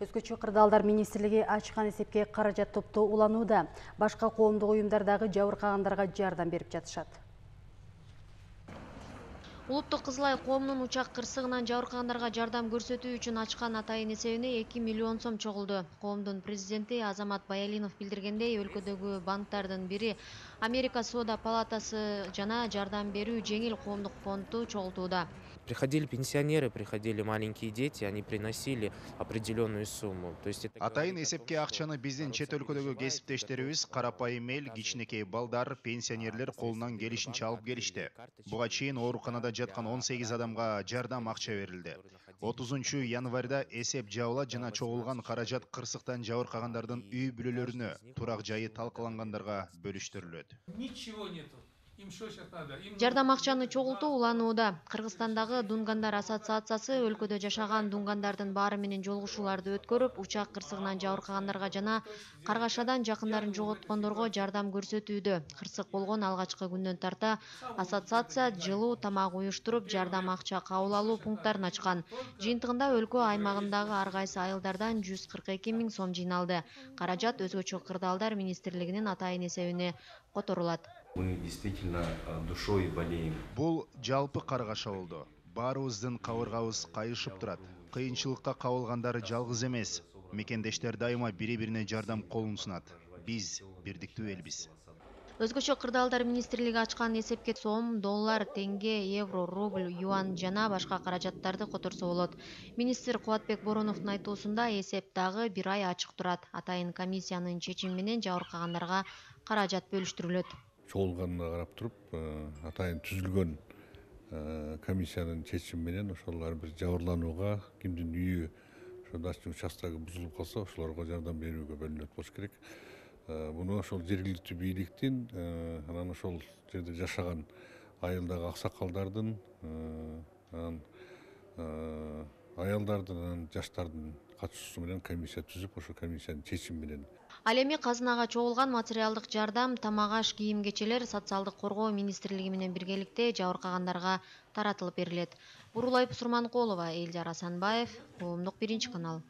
Өзгөчө кырдаалдар министрлиги ачкан эсепке каражат топтоо уланууда. Башка коомдук уюмдардагы жабыркагандарга жардам берип жатышат. Улуттук Кызыл Ай коомунун учак кырсыгынан жабыркагандарга жардам көрсөтүү үчүн ачкан атайын эсебине 2 миллион сом чогулду. Коомдун президенти Азамат Баялинов билдиргендей, өлкөдөгү банктардын бири Америка Соода палатасы жана жардам берүү жеңил коомдук фонду чогултууда. Приходили пенсионеры, приходили маленькие дети, они приносили определенную сумму. Атайын эсепке акчаны биздин чет өлкөдөгү кесиптештерибиз карапайым эл, кичинекей балдар, пенсионерлер колунан келишинче алып келишти. Буга чейин ооруканада жаткан 18 адамга жардам акча берилди. 30 январда эсеп жабылат жана чогулган каражат кырсыктан жабыркагандардын үй бүлөлөрүнө, турак жайы талкалангандарга бөлүштүрүлөт. Ничего нету. Им что сейчас надо? Жардам акчаны чогултуу уланууда. Кыргызстандагы Дунгандар ассоциациясы өлкөдө жашаган дунгандардын баары менен жолугушууларды өткөрүп, учак кырсыгынан жабыркагандарга жана Каргашадан жакындарын жоготкондорго жардам көрсөтүүдө. Кырсык болгон алгачкы күндөн тарта ассоциация жылуу тамак уюштуруп, жардам акча кабыл алуу пункттарын ачкан. Жыйынтыгында өлкө аймагындагы ар кайсы айылдардан 142 000 сом жыйналды. Каражат Өзгөчө кырдаалдар министрлигинин атайын эсебине которулат. Мы действительно душой болеем. Бул жалпы Каргаша болду. Баарыбыздын кабыргабыз кайышып турат. Кыйынчылыкка кабылгандары жалгыз эмес. Мекендештер дайыма бири-бирине жардам колун сунат. Биз бирдиктүү элбиз. Өзгөчө кырдаалдар министрлиги ачкан эсепке сом, доллар, тенге, евро, рубль, юан жана башка каражаттарды которсо болот. Министр Кубатбек Бороновдун айтуусунда эсеп дагы 1 ай ачык турат. Атайын комиссиянын чечими менен жабыркагандарга каражат бөлүштүрүлөт. Чогулганына карап туруп, атайын түзүлгөн комиссиянын чечими менен ошол ар бир жабырланууга, кимдин үйү ошо дачный участогу бузулуп калса, ошолорго жардам берүүгө бөлүнөт болуш керек. Буну ошол жергиликтүү бийликтин, анан ошол жерде жашаган айылдагы аксакалдардын, аялдардын, жаштардын катышуусу менен комиссия түзүп, ошол комиссиянын чечими менен. Ал эми казынага чогулган материалдык жардам, тамак-аш, кийим-кечелер социалдык коргоо министрлиги менен биргеликте жабыркагандарга таратылып берилет. Бурулай Сурманкулова, Элжар Асанбаев, Коомдук 1 канал.